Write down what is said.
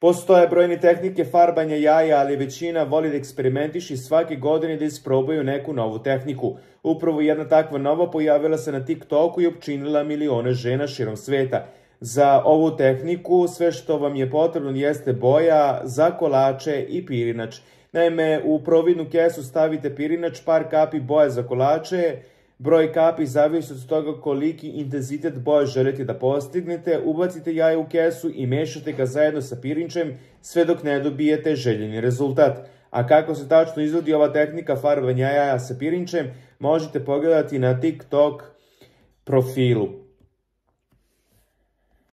Postoje brojne tehnike farbanja jaja, ali većina voli da eksperimentiše svake godine da isprobaju neku novu tehniku. Upravo jedna takva nova pojavila se na TikToku i opčinila milione žena širom sveta. Za ovu tehniku sve što vam je potrebno jeste boja za kolače i pirinač. Naime, u providnu kesu stavite pirinač, par kapi boje za kolače. Broj kapi zavisi od toga koliki intenzitet boje želite da postignete. Ubacite jaje u kesu i mešate ga zajedno sa pirinčem sve dok ne dobijete željeni rezultat. A kako se tačno izvodi ova tehnika farbanja jaja sa pirinčem, možete pogledati na TikTok profilu.